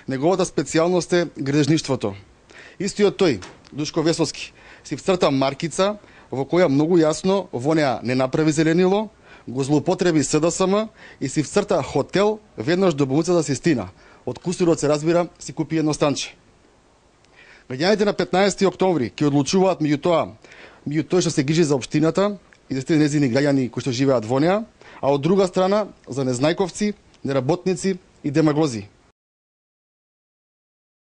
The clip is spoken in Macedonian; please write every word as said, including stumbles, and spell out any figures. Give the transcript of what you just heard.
Неговата специјалност е грежништвото. Истиот тој, Душко Весовски, си вцрта маркица во која многу јасно во неа не направи зеленило, го злоупотреби СДСМ и си вцрта хотел веднаш до болницата Систина. Од кусурот се разбира си купи едно станче. Граѓаните на петнаесети октомври ќе одлучуваат меѓу тоа, меѓу тој што се грижи за општината и за тие незини граѓани кои што живеат во неа, а од друга страна за незнајковци, неработници и демагози.